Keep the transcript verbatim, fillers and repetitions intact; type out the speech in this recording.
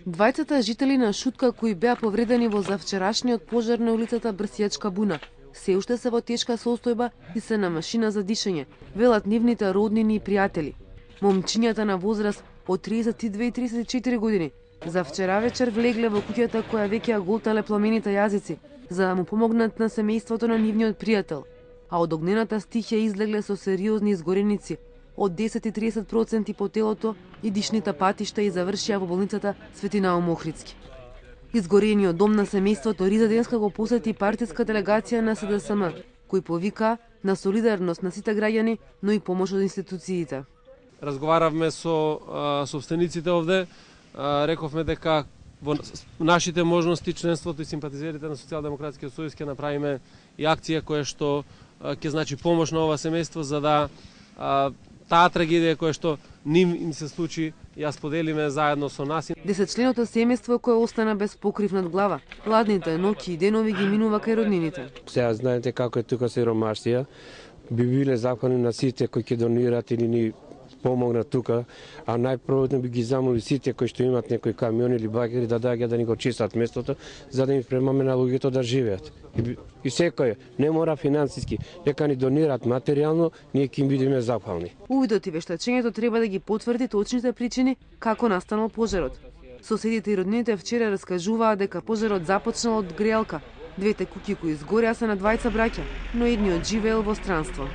Двајцата жители на Шутка кои беа повредени во завчерашниот пожар на улицата Брсијачка буна се уште се во тешка состојба и се на машина за дишење, велат нивните роднини и пријатели. Момчињата на возраст од триесет и две и тридесет и четири години за вчера вечер влегле во куќата која веќе ја голтале пламените јазици, за да му помогнат на семејството на нивниот пријател, а од огнената стихија излегле со сериозни изгореници од десет и тридесет проценти по телото и дишните патишта и завршија во болницата Свети Наум Охридски. Изгорениот дом на семејството Риза денеска го посети партиска делегација на С Д С М, кој повика на солидарност на сите граѓани, но и помош од институциите. Разговаравме со а, собствениците овде, а, рековме дека во нашите можности членството и симпатизерите на Социјалдемократскиот сојуз ќе направиме и акција која што ќе значи помош на ова семејство за да а, таа трагедија која што ним им се случи ја споделиме заедно со нас. Десетчленото семејство кое остана без покрив над глава. Ладните ноќи и денови ги минува кај роднините. Сега знаете како е тука сиромашија. Би биле захвални на сите кои ќе донират или ни помогнат тука, а најпрво би ги замоли сите кои што имат некои камиони или багери да доаѓаат да ни го чистат местото, за да им премаме на луѓето да живеат. И, и секој не мора финансиски, нека ни донират материјално, ние ќе им бидеме захвални. Увидот и вештачењето треба да ги потврди точните причини како настанал пожарот. Соседите и роднините вчера раскажуваа дека пожарот започнал од грејалка. Двете куќи кои изгореа се на двајца браќа, но едниот живеел во странство.